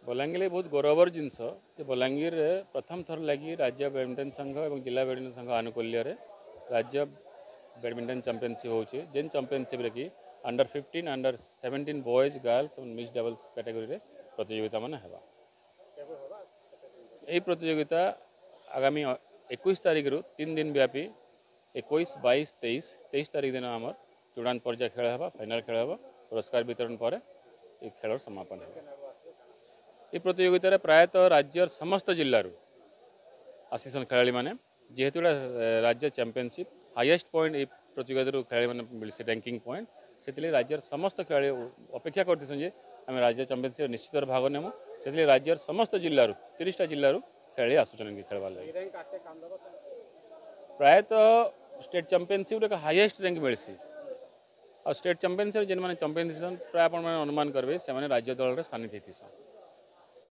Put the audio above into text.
ବଲାଙ୍ଗୀର ବହୁତ ଗୌରବର ଜିନିଷ ଯେ ବଲାଙ୍ଗୀରରେ ପ୍ରଥମ ଥର ଲାଗି ରାଜ୍ୟ ବ୍ୟାଡ଼ମିଣ୍ଟନ ସଂଘ ଏବଂ ଜିଲ୍ଲା ବ୍ୟାଡ଼ମିଣ୍ଟନ ସଂଘ ଆନୁକୂଲ୍ୟରେ ରାଜ୍ୟ ବ୍ୟାଡ଼ମିଣ୍ଟନ ଚାମ୍ପିଅନସିପ୍ ହେଉଛି, ଯେନ୍ ଚାମ୍ପିଅନସିପ୍ରେ କି ଅଣ୍ଡର 15, ଅଣ୍ଡର 17 ବଏଜ୍, ଗାର୍ଲସ ଏବଂ ମିକ୍ସ ଡବଲ୍ସ କ୍ୟାଟେଗୋରୀରେ ପ୍ରତିଯୋଗିତା ମାନେ ହେବା। ଏହି ପ୍ରତିଯୋଗିତା ଆଗାମୀ 21 ତାରିଖରୁ 3 ଦିନ ବ୍ୟାପୀ, 21, 22, 23। 23 ତାରିଖ ଦିନ ଆମର ଚୂଡ଼ାନ୍ତ ପର୍ଯ୍ୟାୟ ଖେଳ ହେବ, ଫାଇନାଲ ଖେଳ ହେବ। ପୁରସ୍କାର ବିତରଣ ପରେ ଏହି ଖେଳର ସମାପନ ହେବ। ଏହି ପ୍ରତିଯୋଗିତାରେ ପ୍ରାୟତଃ ରାଜ୍ୟର ସମସ୍ତ ଜିଲ୍ଲାରୁ ଆସିଛନ୍ ଖେଳାଳିମାନେ। ଯେହେତୁ ଏଇଟା ରାଜ୍ୟ ଚାମ୍ପିଅନସିପ୍, ହାଇଏଷ୍ଟ ପଏଣ୍ଟ ଏଇ ପ୍ରତିଯୋଗିତାରୁ ଖେଳାଳିମାନେ ମିଳିছে ର୍ୟାଙ୍କିଂ ପଏଣ୍ଟ, ସେଥିଲାଗି ରାଜ୍ୟର ସମସ୍ତ ଖେଳାଳି ଅପେକ୍ଷା କରିଥିସନ୍ ଯେ ଆମେ ରାଜ୍ୟ ଚାମ୍ପିଅନସିପ୍ ନିଶ୍ଚିତ ଭାଗ ନେମୁ। ସେଥିଲାଗି ରାଜ୍ୟର ସମସ୍ତ ଜିଲ୍ଲାରୁ, 30ଟା ଜିଲ୍ଲାରୁ ଖେଳାଳି ଆସୁଛନ୍ ଖେଳବାର୍ ଲାଗି। ପ୍ରାୟତଃ ଷ୍ଟେଟ୍ ଚାମ୍ପିଅନସିପ୍ରେ ଏକ ହାଇଏଷ୍ଟ ର୍ୟାଙ୍କ ମିଳିସି, ଆଉ ଷ୍ଟେଟ୍ ଚାମ୍ପିଅନସିପ୍ରେ ଯେନ୍ମାନେ ଚାମ୍ପିଅନ୍ ହେଇସନ୍, ପ୍ରାୟ ଆପଣମାନେ ଅନୁମାନ କରିବେ ସେମାନେ ରାଜ୍ୟ ଦଳରେ ସ୍ଥାନିତ ହେଇଥିସନ୍।